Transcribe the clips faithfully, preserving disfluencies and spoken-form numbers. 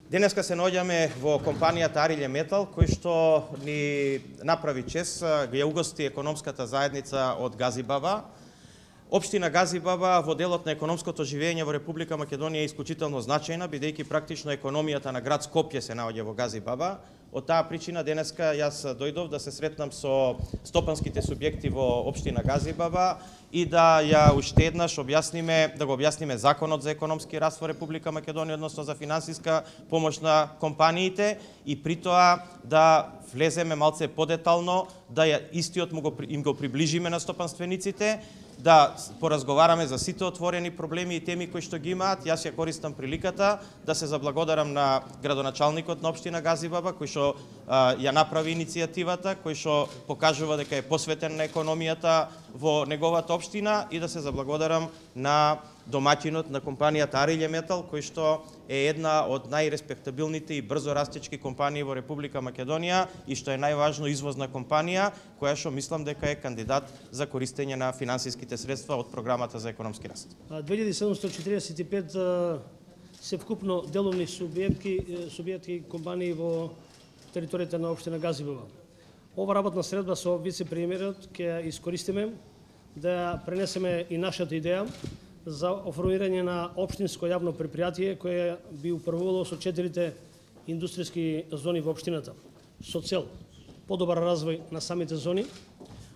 Денеска се наоѓаме во компанијата Арилје Метал, кој што ни направи чест, ја угости економската заедница од Газибаба. Општина Газибаба во делот на економското живење во Република Македонија е исклучително значајна, бидејќи практично економијата на град Скопје се наоѓа во Газибаба. Од таа причина денеска јас дојдов да се сретнам со стопанските субјекти во општина Газибаба и да ја уште еднаш објасниме, да го објасниме законот за економски раст во Република Македонија, односно за финансиска помош на компаниите и при тоа да влеземе малце подетално, да ја истиот му го, им го приближиме на стопанствениците, да поразговараме за сите отворени проблеми и теми кои што ги имаат. Јас ја користам приликата да се заблагодарам на градоначалникот на општина Газибаба, кој што а, ја направи иницијативата, кој што покажува дека е посветен на економијата во неговата општина, и да се заблагодарам на домаќинот на компанијата Арилје Метал, кој што е една од најреспектабилните и брзо растечки компании во Република Македонија и што е најважно извозна компанија, која што мислам дека е кандидат за користење на финансиските средства од програмата за економски раст. две илјади седумстотини четиридесет и пет се вкупно деловни субјекти, субјекти компании во територијата на општина Газибаба. Ова работна средба со вице-премиерот ќе ја искористиме да пренесеме и нашата идеја за оформирање на општинско јавно предпријатие кое би управувало со четирите индустријски зони во општината, со цел подобар развој на самите зони,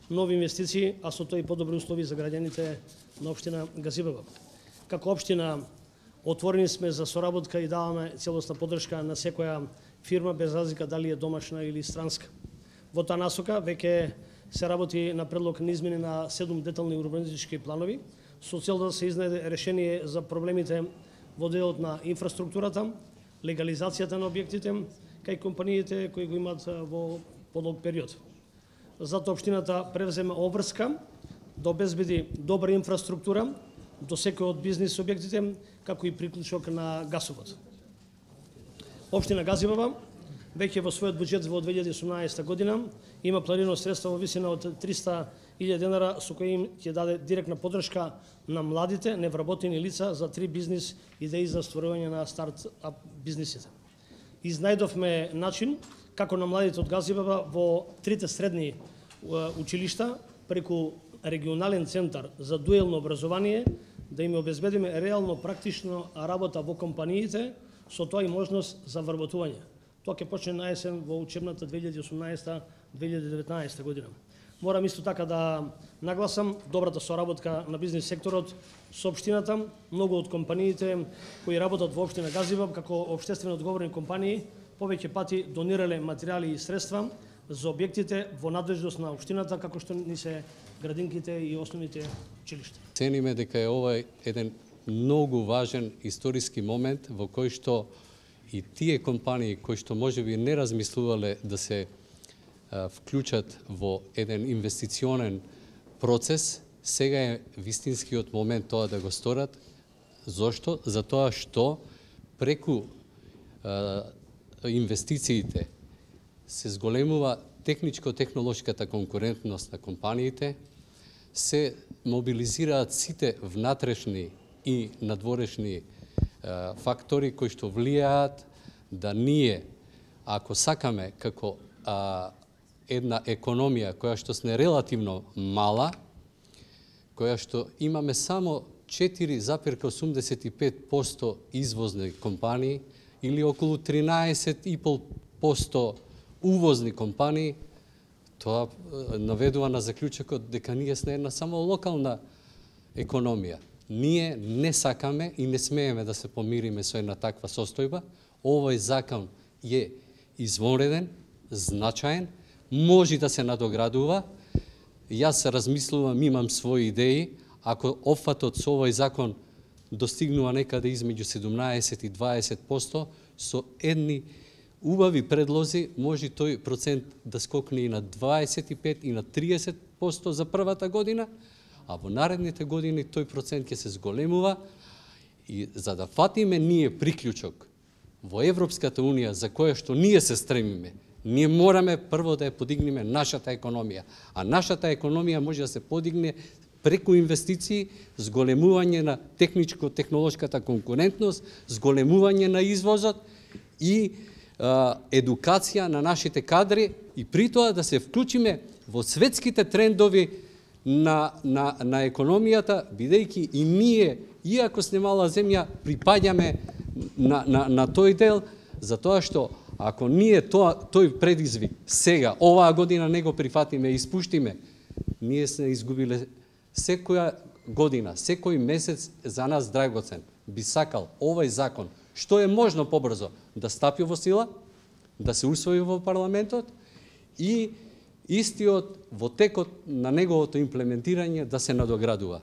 нови инвестиции, а со тоа и подобри услови за граѓаните на општина Газибаба. Како општина отворени сме за соработка и даваме целосна поддршка на секоја фирма без разлика дали е домашна или странска. Во таа насока веќе се работи на предлог на измени на седум детални урбанистички планови со цел да се изнајде решение за проблемите во делот на инфраструктурата, легализацијата на објектите, кај компаниите кои го имаат во подолг период. Затоа општината превзема обврска да обезбеди добра инфраструктура до секој од бизнис објектите, како и приклучок на гасовод. Општина Газибаба веќе во својот буџет во две илјади и осумнаесета година има планирано средства во висина од триста илјади денара со кои им ќе даде директна поддршка на младите невработени лица за три бизнис идеи за стварување на старт-ап бизнисите. Изнајдовме начин како на младите од Газибаба во трите средни училишта преку регионален центар за дуелно образование да им обезбедиме реално практично работа во компаниите, со тоа и можност за вработување. Тоа ќе почне на есен во учебната две илјади и осумнаесета две илјади и деветнаесета година. Морам исто така да нагласам добрата соработка на бизнис секторот со општината. Многу од компаниите кои работат во општина Газибаба како општествено одговорни компании повеќе пати донирале материјали и средства за објектите во надлежност на општината, како што ни се градинките и основните училишта. Цениме дека е ова еден многу важен историски момент во кој што и тие компании кои што можеби не размислувале да се а, вклучат во еден инвестиционен процес, сега е вистинскиот момент тоа да го сторат. Зошто? Затоа што преку а, инвестициите се зголемува техничко-технолошката конкурентност на компаниите, се мобилизираат сите внатрешни и надворешни а, фактори кои што влијаат да ние, ако сакаме како а, една економија која што сме релативно мала, која што имаме само четири запирка осумдесет и пет проценти извозни компании или околу тринаесет и пет проценти увозни компании, тоа наведува на заклучокот дека ние сме една само локална економија. Ние не сакаме и не смееме да се помириме со една таква состојба. Овој закон е извонреден, значаен, може да се надоградува. Јас размислувам, имам своји идеи. Ако опфатот со овој закон достигнува некаде измеѓу седумнаесет и дваесет проценти, со едни убави предлози може тој процент да скокне и на дваесет и пет и на триесет проценти за првата година, а во наредните години тој процент ќе се зголемува. И за да фатиме ние приклучок во Европската Унија за која што ние се стремиме, ние мораме прво да ја подигнеме нашата економија. А нашата економија може да се подигне преку инвестиции, зголемување на техничко-технолошката конкурентност, зголемување на извозот и а, едукација на нашите кадри и при тоа да се вклучиме во светските трендови на, на, на економијата, бидејќи и ние, иако сме мала земја, припаѓаме на, на, на тој дел, затоа што ако ние тоа, тој предизвик сега, оваа година не го прифатиме и испуштиме, ние сме изгубиле секоја година, секој месец за нас драгоцен. Би сакал овој закон, што е можно побрзо, да стапи во сила, да се усвои во парламентот и истиот во текот на неговото имплементирање да се надоградува.